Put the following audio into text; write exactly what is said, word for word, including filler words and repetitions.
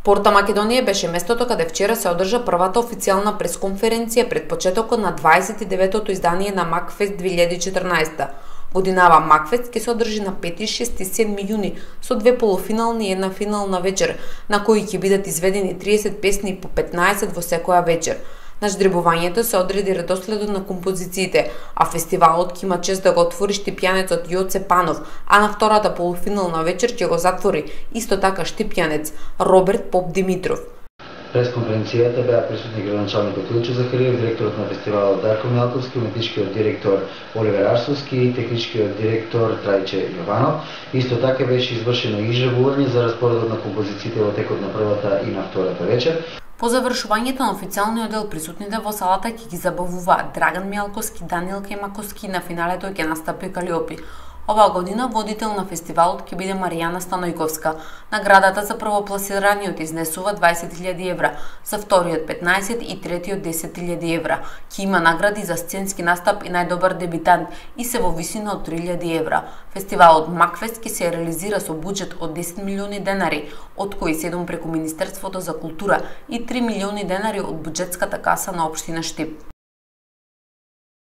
Порта Македонија беше местото каде вчера се одржа првата официјална пресконференција пред почетокот на дваесет и деветото издание на Макфест две илјади и четрнаесетта. Годинава Макфест ќе се одржи на пети, шести и седми јуни со две полуфинални и една финална вечер, на кои ќе бидат изведени триесет песни по петнаесет во секоја вечер. На ждребувањето се одреди редоследот на композициите, а фестивалот ќе има чест да го отвори штипјанецот Јоце Панов, а на втората полуфинална вечер ќе го затвори исто така штипјанец Роберт Поп Димитров. През конференцијата беа присутни градоначалникот Илчо Захариев, директорот на фестивалот Дарко Мјалковски, уметничкиот директор Оливер Арсовски и техничкиот директор Трајче Јованов. Исто така беше извршено изжребување за распоредот на композициите во текот на првата и на втората вечер. По завршувањето на официјалниот дел, присутните во салата ќе ги забавуваат Драган Мјалковски, Даниел Кајмаковски, на финалето ќе настапи Калиопи. Оваа година водител на фестивалот ќе биде Маријана Станојковска. Наградата за првопласираниот изнесува дваесет илјади евра, за вториот петнаесет и третиот десет илјади евра. Ќе има награди за сценски настап и најдобар дебитант и се во висина од три илјади евра. Фестивалот Макфест ќе се реализира со буџет од десет милиони денари, од кои седум преку Министерството за култура и три милиони денари од буџетската каса на општина Штип.